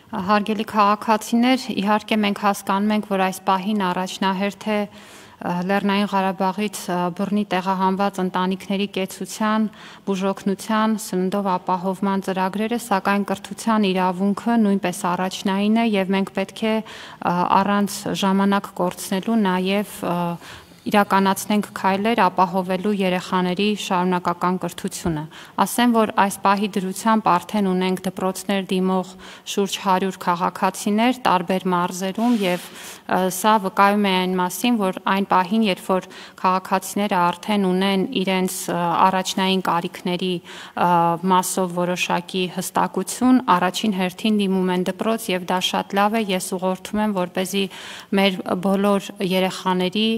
Հարգելի քաղաքացիներ, իհարկե մենք հասկանում ենք, որ այս պահին առաջնահերթ է Լեռնային Ղարաբաղից բռնի տեղահանված ընտանիքների կեցության, բուժօգնության, սննդով ապահովման ծրագրերը, սակայն կրթության իրավունքը նույնպես առաջնային է եւ մենք պետք է առանց ժամանակ կորցնելու նաեւ իրականացնենք քայլեր ապահովելու երեխաների շարունակական կրթությունը։ Ասեմ, որ այս պահի դրությամբ արդեն ունենք դպրոցներ դիմող շուրջ 100 քաղաքացիներ տարբեր մարզերում եւ սա վկայում է այն մասին, որ այն պահին, երբ որ քաղաքացիները արդեն ունեն իրենց առաջնային կարիքների մասով որոշակի հստակություն, առաջին հերթին դիմում են դպրոց եւ դա շատ լավ է, ես ուղղորդում եմ, որպեսզի մեր բոլոր երեխաների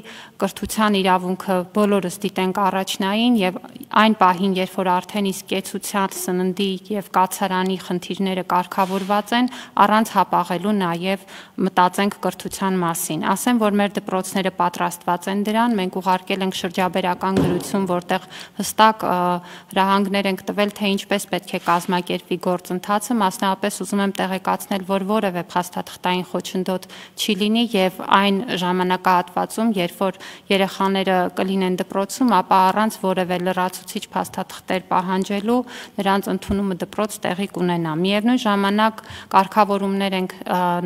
կրթության իրավունքը բոլորս դիտենք առաջնային եւ այն պահին, երբ որ արդեն իսկ կեցության, սննդի եւ կացարանի խնդիրները կարգավորված են, առանց հապաղելու նաեւ մտածենք կրթության մասին։ Ասեմ, որ մեր դպրոցները պատրաստված են դրան, մենք ուղարկել ենք շրջաբերական գրություն, որտեղ հստակ հրահանգներ ենք տվել, թե ինչպես պետք է կազմակերպվի գործընթացը, մասնավորապես ուզում եմ տեղեկացնել, որ որևէ փաստաթղթային խոչընդոտ չի լինի եւ այն ժամանակահատվածում, երբ որ երեխաները կլինեն դպրոցում, ապա առանց որևէ լրացուցիչ փաստաթղթեր պահանջելու նրանց ընդունումը դպրոց տեղի կունենա։ Միևնույն ժամանակ կարգավորումներ ենք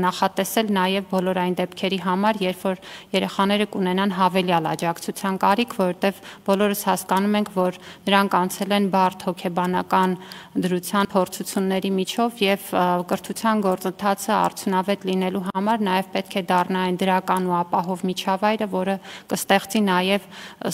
նախատեսել նաև բոլոր այն դեպքերի համար, երբ որ երեխաները կունենան հավելյալ աջակցության կարիք, որովհետև բոլորս հասկանում ենք, որ նրանք անցել են բարդ հոգեբանական դրության փորձությունների միջով եւ կրթության գործընթացը արդյունավետ լինելու համար նաև պետք է դառնա այն դրական ու ապահով միջավայրը, որը կստեղծի նաև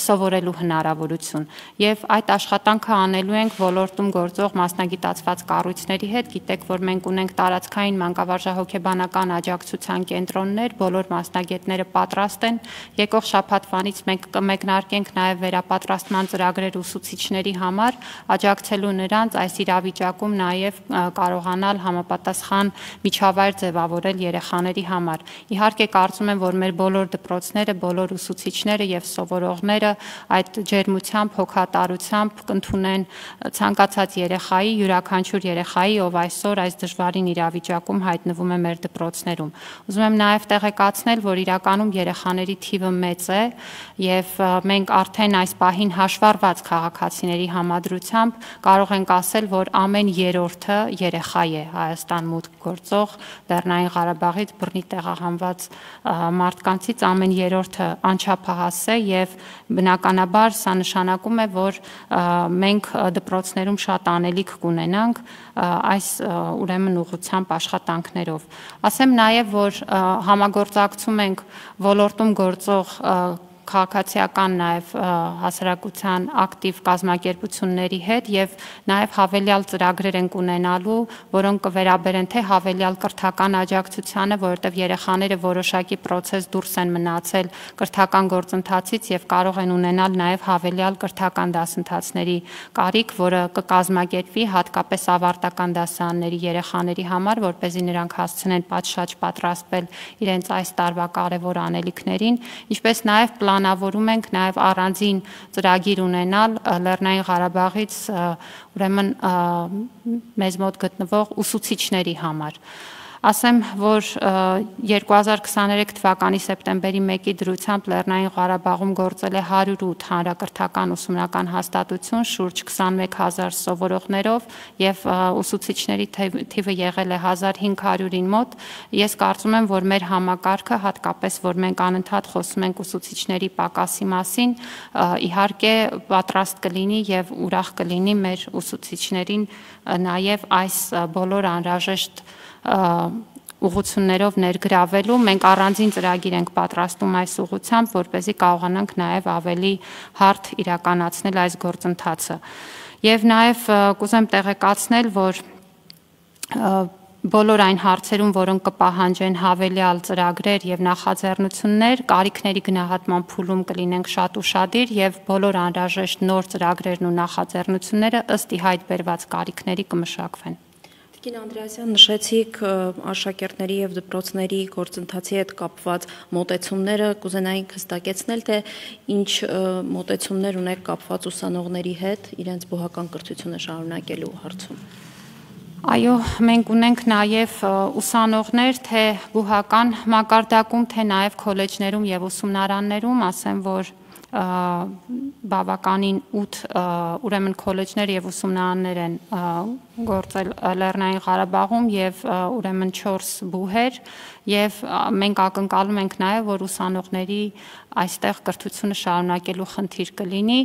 սովորելու հնարավորություն։ Եվ այդ աշխատանքը անելու ենք ոլորտում գործող մասնագիտացված կառույցների հետ։ Գիտեք, որ մենք ունենք տարածքային մանկավարժահոգեբանական աջակցության կենտրոններ, բոլոր մասնագետները պատրաստ են։ Եկող շաբաթվանից մենք կմեկնարկենք նաև վերապատրաստման ծրագրեր ուսուցիչների համար, աջակցելու նրանց այս իրավիճակում նաև կարողանալ համապատասխան միջավայր ձևավորել երեխաների համար։ Իհարկե կարծում եմ, որ մեր բոլոր դպրոցները, բոլոր ուսուցիչները եւ սովորողները այդ ջերմությամբ, հոգատարությամբ կընդունեն ցանկացած երեխայի, յուրաքանչյուր երեխայի, ով այսօր այս դժվարին իրավիճակում հայտնվում է մեր դպրոցներում։ Ուզում եմ նաև տեղեկացնել, որ իրականում երեխաների թիվը մեծ է եւ մենք արդեն այս պահին հաշվառված քաղաքացիների համադրությամբ կարող ենք ասել, որ ամեն երրորդը երեխա է Հայաստան մուտք գործող Լեռնային Ղարաբաղից բռնի տեղահանված մարդկանցից ամեն երրորդը անչափահաս է եւ բնականաբար սա նշանակում է, որ մենք դպրոցներում շատ անելիք կունենանք այս ուրեմն ուղղությամբ աշխատանքներով։ Ասեմ նաև, որ համագործակցում ենք ոլորտում գործող քաղաքացիական նաև հասարակության ակտիվ կազմակերպությունների հետ եւ նաև հավելյալ ծրագրեր ենք ունենալու, որոնք կվերաբերեն թե հավելյալ կրթական աջակցությանը, որովհետեւ երեխաները որոշակի process դուրս են մնացել կրթական գործընթացից եւ կարող են ունենալ նաև հավելյալ կրթական դասընթացների կարիք, որը կկազմակերպվի հատկապես ավարտական դասարանների երեխաների համար, որպեսզի նրանք հասցնեն պատշաճ պատրաստվել իրենց այս տարվա կարևոր անելիքներին, ինչպես նաև պլանավորում ենք նաև առանձին ծրագիր ունենալ Լեռնային Ղարաբաղից ուրեմն մեզ մոտ գտնվող ուսուցիչների համար։ Ասեմ, որ 2023 թվականի սեպտեմբերի 1-ի դրությամբ Լեռնային Ղարաբաղում գործել է 108 հանրակրթական ուսումնական հաստատություն շուրջ 21000 սովորողներով եւ ուսուցիչների թիվը եղել է 1500-ին մոտ։ Ես կարծում եմ, որ մեր համակարգը, հատկապես որ մենք անընդհատ խոսում ենք ուսուցիչների պակասի մասին, իհարկե պատրաստ կլինի եւ ուրախ կլինի մեր ուսուցիչներին նաեւ այս բոլոր անհրաժեշտ ուղղություններով ներգրավելու։ Մենք առանձին ծրագիր ենք պատրաստում այս ուղղությամբ, որպեսզի կարողանանք նաև ավելի հարթ իրականացնել այս գործընթացը։ Եվ նաև կուզեմ տեղեկացնել, որ բոլոր այն հարցերում, որոնք կպահանջեն հավելյալ ծրագրեր եւ նախաձեռնություններ, կարիքների գնահատման փուլում կլինենք շատ ուշադիր եւ բոլոր անհրաժեշտ նոր ծրագրերն ու նախաձեռնությունները ըստ ի հայտ բերված կարիքների կմշակվեն։ Տիկին Անդրեասյան, նշեցիք աշակերտների եւ դպրոցների գործընթացի հետ կապված մոտեցումները, կուզենայինք հստակեցնել, թե ինչ մոտեցումներ ունեք կապված ուսանողների հետ իրենց բուհական կրթությունը շարունակելու հարցում։ Դե, իրականում, ինչպես նշեցիք, 2023 թվականի սեպտեմբերի 1-ի դրությամբ Լեռնային Ղարաբաղում գործել է 108 հանրակրթական ուսումնական հաստատություն շուրջ 21000 սովորողներով եւ ուսուցիչների թիվը եղել է 1500-ին մոտ։ Ես կարծում եմ, որ Այո, մենք ունենք նաև ուսանողներ, թե բուհական մակարդակում, թե նաև քոլեջներում եւ ուսումնարաններում, ասեմ, որ բավականին 8 ուրեմն քոլեջներ եւ ուսումնարաններ են գործել Լեռնային Ղարաբաղում եւ ուրեմն 4 բուհեր եւ մենք ակնկալում ենք նաեւ որ ուսանողների այստեղ կրթությունը շարունակելու խնդիր կլինի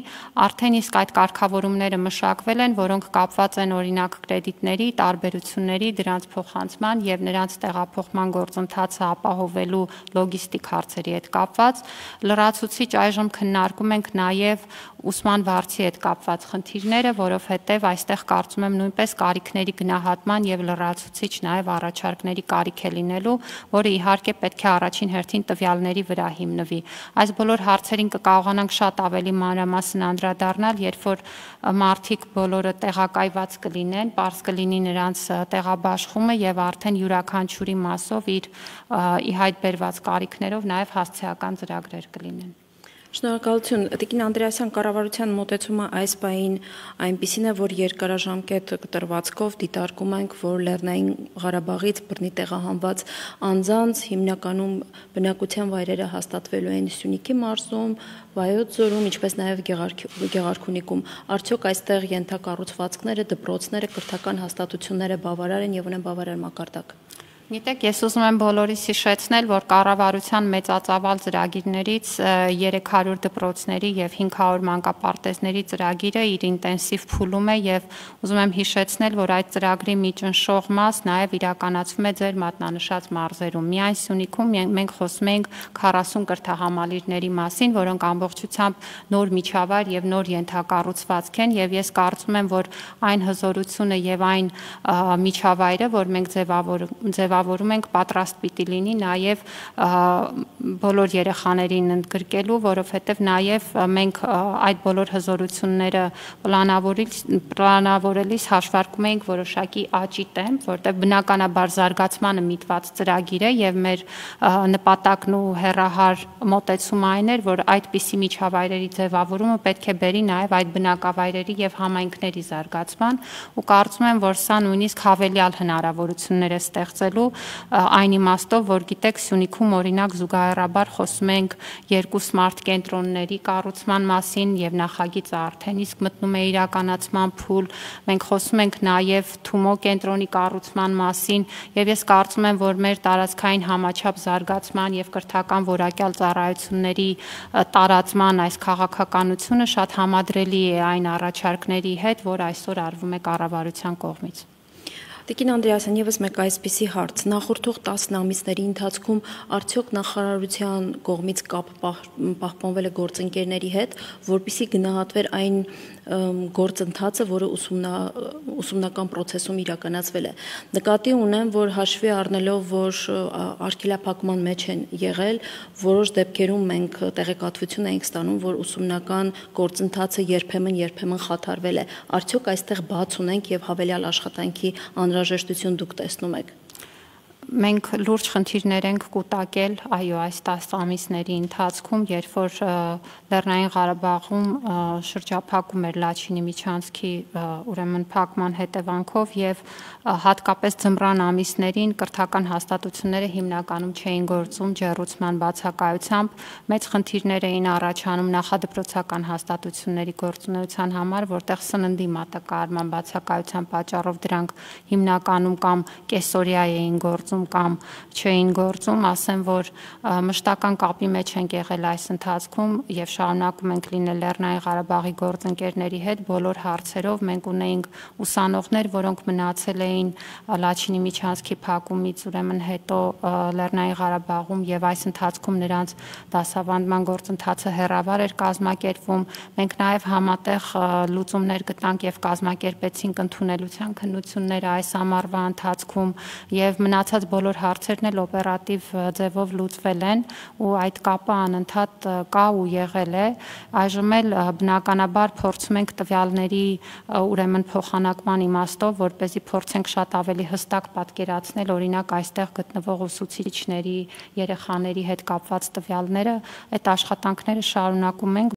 արդեն իսկ այդ կարգավորումները մշակվել են որոնք կապված են օրինակ կրեդիտների տարբերությունների դրանց փոխանցման եւ նրանց տեղափոխման գործընթացը ապահովելու լոգիստիկ հարցերի հետ կապված լրացուցիչ այժմ քննարկում ենք նաեւ ուսման վարձի հետ կապված խնդիրները, որովհետև այստեղ կարծում եմ նույնպես կարիքների գնահատման եւ լրացուցիչ նաեւ առաջարկների կարիք է լինելու, որը իհարկե պետք է առաջին հերթին տվյալների վրա հիմնվի։ Այս բոլոր հարցերին կկարողանանք շատ ավելի մանրամասն անդրադառնալ, երբ որ մարդիկ բոլորը տեղակայված կլինեն, պարզ կլինի նրանց տեղաբաշխումը եւ արդեն յուրաքանչյուրի մասով իր ի հայտ բերված կարիքներով նաեւ հասցեական ծրագրեր կլինեն։ Շնորհակալություն, Տիկին Անդրեասյան, կառավարության մոտեցումը այս պահին այնպիսին է, որ երկարաժամկետ կտրվածքով դիտարկում ենք, որ Լեռնային Ղարաբաղից բռնի տեղահանված անձանց հիմնականում բնակության վայրերը հաստատվելու են Սյունիքի մարզում, Վայոց ձորում, ինչպես նաև Գեղարքունիքում։ Արդյոք այստեղ ենթակառուցվածքները, դպրոցները, կրթական հաստատությունները բավարար են եւ ունեն բավարար մակարդակ։ Գիտեք, ես ուզում եմ բոլորիս հիշեցնել, որ կառավարության մեծածավալ ծրագիրներից 300 դպրոցների եւ 500 մանկապարտեզների ծրագիրը իր ինտենսիվ փուլում է եւ ուզում եմ հիշեցնել, որ այդ ծրագրի միջնշող մաս նաեւ իրականացվում է ձեր մատնանշած մարզերում։ Միայն Սյունիքում մենք խոսում ենք 40 կրթահամալիրների մասին, որոնք ամբողջությամբ նոր միջավայր եւ նոր ենթակառուցվածք են եւ ես կարծում եմ, որ այն հզորությունը եւ այն միջավայրը, որ մենք ձևավորում ենք պատրաստ պիտի լինի նաև բոլոր երեխաներին ընդգրկելու, որովհետև նաև մենք այդ բոլոր հզորությունները պլանավորելիս հաշվարկում ենք որոշակի աճի տեմպ, որտեղ բնականաբար զարգացմանը միտված ծրագիր է եւ մեր նպատակն ու հեռահար մոտեցումը այն էր, որ այդպիսի միջավայրերի ձևավորումը պետք է բերի նաև այդ բնակավայրերի եւ համայնքների զարգացման ու կարծում եմ, որ սա նույնիսկ հավելյալ հնարավորություններ է ստեղծելու այն իմաստով, որ գիտեք Սյունիքում օրինակ զուգահեռաբար խոսում ենք 2 սմարթ կենտրոնների կառուցման մասին եւ նախագիծը արդեն իսկ մտնում է իրականացման փուլ։ Մենք խոսում ենք նաեւ Թումո կենտրոնի կառուցման մասին եւ ես կարծում եմ, որ մեր տարածքային համաչափ զարգացման եւ կրթական որակյալ ծառայությունների տարածման այս քաղաքականությունը շատ համադրելի է այն առաջարկների հետ, որ այսօր արվում է կառավարության կողմից։ Տիկին Անդրեասյան, եւս մեկ այսպիսի հարց. նախորդող 10 ամիսների ընթացքում արդյոք նախարարության կողմից կապ պահպանվել է գործընկերների հետ, որպեսզի գնահատվեր այն գործընթացը, որը ուսումնական process-ում իրականացվել է։ Նկատի ունեմ, որ հաշվի առնելով, որ արգելափակման մեջ են եղել, որոշ դեպքերում մենք տեղեկատվություն ենք ստանում, որ ուսումնական գործընթացը երբեմն խաթարվել է։ Արդյոք այստեղ բաց ունենք եւ հավելյալ աշխատանքի անհրաժեշտություն դուք տեսնում եք։ Մենք լուրջ խնդիրներ ենք կուտակել, այո, այս 10 ամիսների ընթացքում, երբ որ Լեռնային Ղարաբաղում շրջափակում էր Լաչինի միջանցքի ուրեմն փակման հետևանքով եւ հատկապես ձմռան ամիսներին կրթական հաստատությունները հիմնականում չէին գործում ջեռուցման բացակայությամբ, մեծ խնդիրներ էին առաջանում նախադպրոցական հաստատությունների գործունեության համար, որտեղ սննդի մատակարարման բացակայության պատճառով դրանք հիմնականում կամ կեսօրյա էին գործում կամ չէին գործում, ասեմ, որ մշտական կապի մեջ ենք եղել այս ընթացքում եւ շարունակում ենք լինել Լեռնային Ղարաբաղի գործընկերների հետ բոլոր հարցերով։ Մենք ունեինք ուսանողներ, որոնք մնացել էին Լաչինի միջանցքի փակումից ուրեմն հետո Լեռնային Ղարաբաղում եւ այս ընթացքում նրանց դասավանդման գործընթացը հեռավար էր կազմակերպվում։ Մենք նաեւ համատեղ լուծումներ գտանք եւ կազմակերպեցինք ընդունելության քննությունները այս ամառվա ընթացքում եւ մնացած բոլոր հարցերն էլ օպերատիվ ձևով լուծվել են ու այդ կապը անընդհատ կա ու եղել է։ Այժմ էլ բնականաբար փորձում ենք տվյալների ուրեմն փոխանակման իմաստով, որպեսզի փորձենք շատ ավելի հստակ պատկերացնել օրինակ այստեղ գտնվող ուսուցիչների, երեխաների հետ կապված տվյալները, այդ աշխատանքները շարունակում ենք